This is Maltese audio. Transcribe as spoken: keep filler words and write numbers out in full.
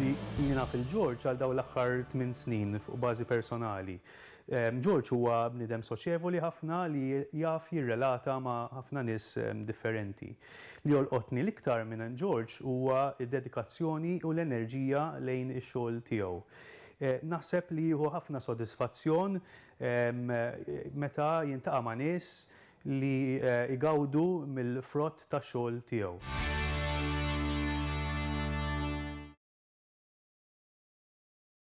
Jiena naf lil George għal dawn l-aħħar tmien snin fuq bażi personali. George huwa bniedem soċjevoli ħafna li jaf jirrelata ma' ħafna nies differenti. Li jolqotni l-iktar minn George huwa d-dedikazzjoni u l-enerġija lejn ix-xogħol tiegħu. Naħseb li jieħu ħafna sodisfazzjon meta jiltaqa' ma' nies li igawdu mill-frott tax-xogħol tiegħu.